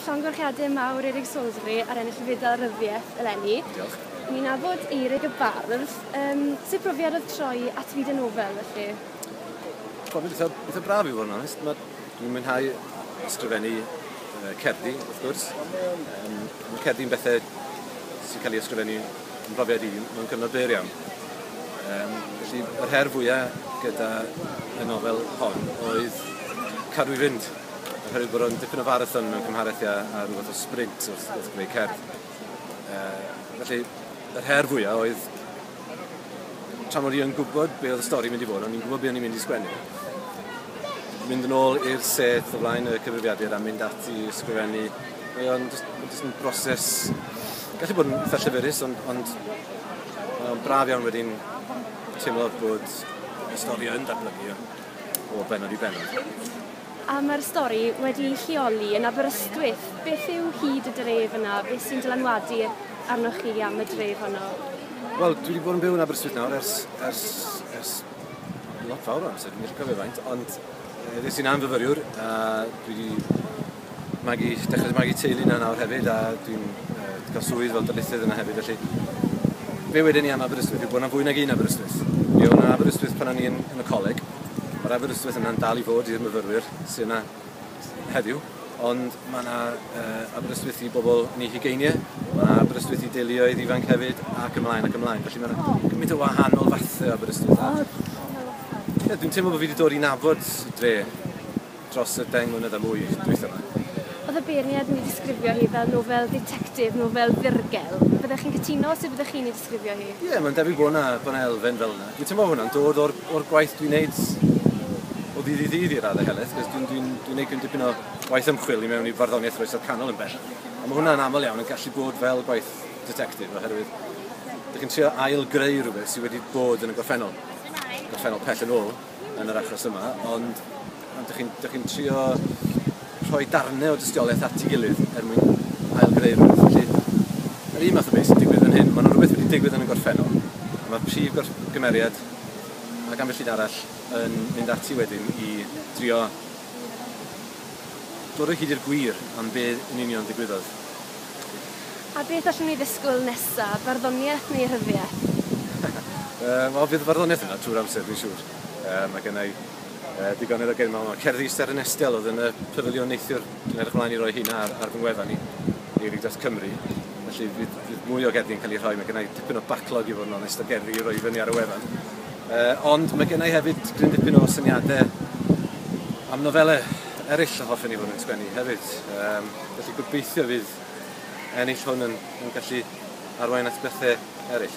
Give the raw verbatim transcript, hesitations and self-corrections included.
Llongyfarchiadau mawr Eurig Salisbury ar ennill y Fedal Ryddiaith eleni. Diolch. Ni'n nabod Eurig y bardd. Um, sut brofiad oedd troi at fyd y nofel, felly? Profiad eitha, eitha braf i fod yn onest. Ma, dwi'n mwynhau ysgrifennu uh, cerddi, wrth gwrs. Um, mae cerddi'n bethau sy'n cael ei ysgrifennu yn brofiad i mewn cyfnod byr iawn. Um, felly, yr her fwyaf gyda y nofel hon oedd cadw i fynd. Oherwydd bod o'n dipyn o farathon mewn cymharaeth â, a rhywbeth o sprint wrth, wrth greu cerdd. Uh, felly, yr her fwyaf oedd tra mod i yn gwybod be oedd y stori mynd i fod, o'n i'n gwybod be o'n i'n mynd i sgwennu. Mynd yn ôl i'r set o flaen y cyfrifiadur a mynd ati i ysgrifennu. Mae o'n just, just yn broses, gallu bod yn eitha llyfyrus, ond, ond mae o'n braf iawn wedyn teimlo bod y stori yn datblygu o bennod i bennod. A mae'r stori wedi lleoli yn Aberystwyth. Beth yw hyd y dref yna? Beth sy'n dylanwadu arnoch chi am y dref honno? Wel, dwi wedi bod yn byw yn Aberystwyth nawr ers, ers, ers lot fawr o amser, dwi'n gallu cofio faint, ond ddes i'n fyfyriwr a dwi wedi magu, dechrau magu teulu yna nawr hefyd a dwi'n uh, cael swydd fel darlithydd yna hefyd, felly be wedyn ni am Aberystwyth yw bod yna fwy nag un Aberystwyth. Mi oedd yna Aberystwyth pan o'n i yn, yn y coleg, mae'r Aberystwyth yna'n dal i fod i'r myfyrwyr sydd yna heddiw, ond mae yna uh, Aberystwyth i bobl yn eu hugeiniau, mae yna Aberystwyth i deuluoedd ifanc hefyd, ac ymlaen ac ymlaen. Felly mae yna gymaint o wahanol fathau o Aberystwyth. A, ie, dwi'n teimlo bod fi wedi dod i nabod y dre dros y deng mlynedd a mwy dwytha yma. Oedd y beirniad yn ei disgrifio hi fel nofel ditectif, nofel ddirgel. Fyddech chi'n cytuno? Sut fyddech chi'n ei disgrifio hi? Ie, yeah, mae'n debyg bod yna, bod yna elfen fel yna. Dwi'n teimlo hwnna'n dod o'r, o'r gwaith dwi'n neud o ddydd i ddydd i'r raddau helaeth, cos dwi'n dwi, dwi neud dipyn o waith ymchwil i mewn i farddoniaeth yr Oesoedd Canol yn bell. A mae hwnna'n aml iawn yn gallu bod fel gwaith detectif, oherwydd dych chi'n trio ail-greu rhywbeth sydd wedi bod yn y gorffennol. Gorffennol pell yn ôl yn yr achos yma, ond, ond dych chi'n chi trio rhoi darnau o dystiolaeth at ei gilydd er mwyn ail-greu rhywbeth. Felly, yr un math o beth sy'n digwydd yn hyn, mae yna rhywbeth wedi digwydd yn y gorffennol, a mae'r prif gymeriad ac ambell un arall yn mynd ati wedyn i drio dod o hyd i'r gwir am be yn union ddigwyddodd. A beth allwn ni ddisgwyl nesaf, barddoniaeth neu rhyddiaeth? uh, Wel, fydd y barddoniaeth yna trwy'r amser, dwi'n siŵr. Uh, mae gen i uh, digonedd o gen i. Cerddi Seren Estel oedd yn y pafiliwn neithiwr. Dwi'n edrych ymlaen i roi hynna ar, ar fy ngwefan i, Eurig dot Cymru. Felly fydd, fydd mwy o gerddi'n cael ei rhoi. Mae gen i dipyn o backlog i fod yn onest o gerddi i roi fyny ar y wefan. Uh, ond mae gen i hefyd gryn dipyn o syniadau am nofelau eraill a hoffen i fod yn sgwennu hefyd. Um, felly gobeithio fydd ennill hwn yn, yn gallu arwain at bethau eraill.